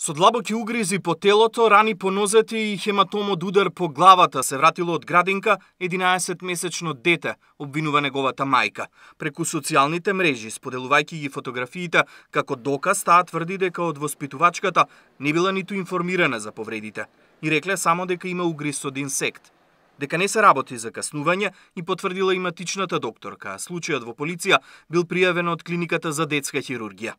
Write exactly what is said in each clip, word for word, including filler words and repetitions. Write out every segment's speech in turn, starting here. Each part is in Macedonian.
Со длабоки угризи по телото, рани по нозете и хематом од удар по главата се вратило од градинка единаесетмесечно дете, обвинува неговата мајка. Преку социјалните мрежи, споделувајќи ги фотографиите, како доказ таа тврди дека од воспитувачката не била ниту информирана за повредите и рекле само дека има угриз од инсект. Дека не се работи за каснување и потврдила и матичната докторка, а случајот во полиција бил пријавен од клиниката за детска хирургија.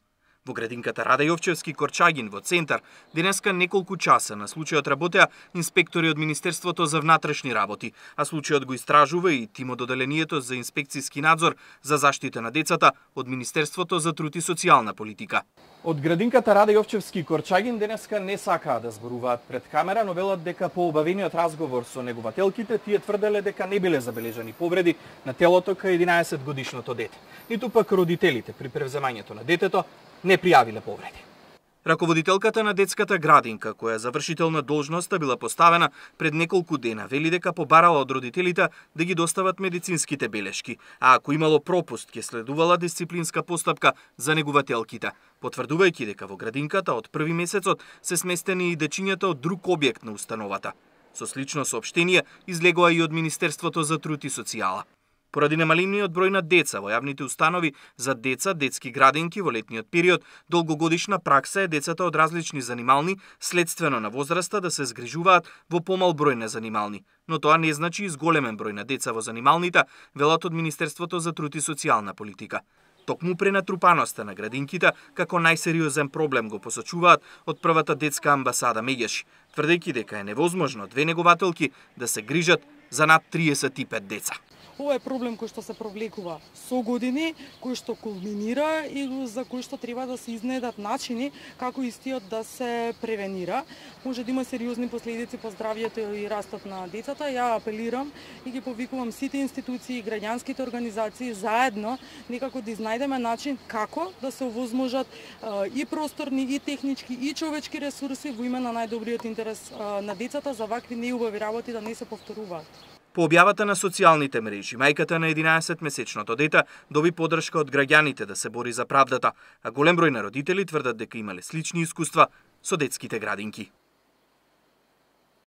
Во градинката Раде Јовчевски Корчагин во центар денеска неколку часа на случајот работеа инспектори од Министерството за внатрешни работи, а случајот го истражува и тим од Оделението за инспекцијски надзор за заштита на децата од Министерството за труд и социјална политика. Од градинката Раде Јовчевски Корчагин денеска не сакаа да зборуваат пред камера, но велат дека по обавениот разговор со негователките тие тврделе дека не биле забележани повреди на телото кај единаесетгодишното дете. Ниту пак родителите при превземањето на детето не пријавиле повреди. Раководителката на детската градинка, која завршител на должноста била поставена пред неколку дена, вели дека побарала од родителите да ги достават медицинските белешки, а ако имало пропуст, ќе следувала дисциплинска постапка за негователките, потврдувајќи дека во градинката од први месецот се сместени и дечињата од друг објект на установата. Со слично соопштение излегоа и од Министерството за труд и социјала. Поради немалимниот број на деца во јавните установи за деца, детски градинки во летниот период, долгогодишна пракса е децата од различни занимални следствено на возраста да се згрижуваат во помал број на занимални. Но тоа не значи изголемен број на деца во занималните, велат од Министерството за труд и социјална политика. Токму пренатрупаноста на градинките како најсериозен проблем го посочуваат од првата детска амбасада Меѓеш, тврдејќи дека е невозможно две негователки да се грижат за над триесет и пет деца. Ова е проблем кој што се провлекува со години, кој што кулминира и за кој што треба да се изнедат начини како истиот да се превенира. Може да има сериозни последици по здравјето и растот на децата. Ја апелирам и ги повикувам сите институции и граѓанските организации заедно некако да изнајдеме начин како да се овозможат и просторни, и технички, и човечки ресурси во име на најдобриот интерес на децата за вакви неубави работи да не се повторуваат. По објавата на социјалните мрежи, мајката на единаесетмесечното дете доби поддршка од граѓаните да се бори за правдата, а голем број на родители тврдат дека имале слични искуства со детските градинки.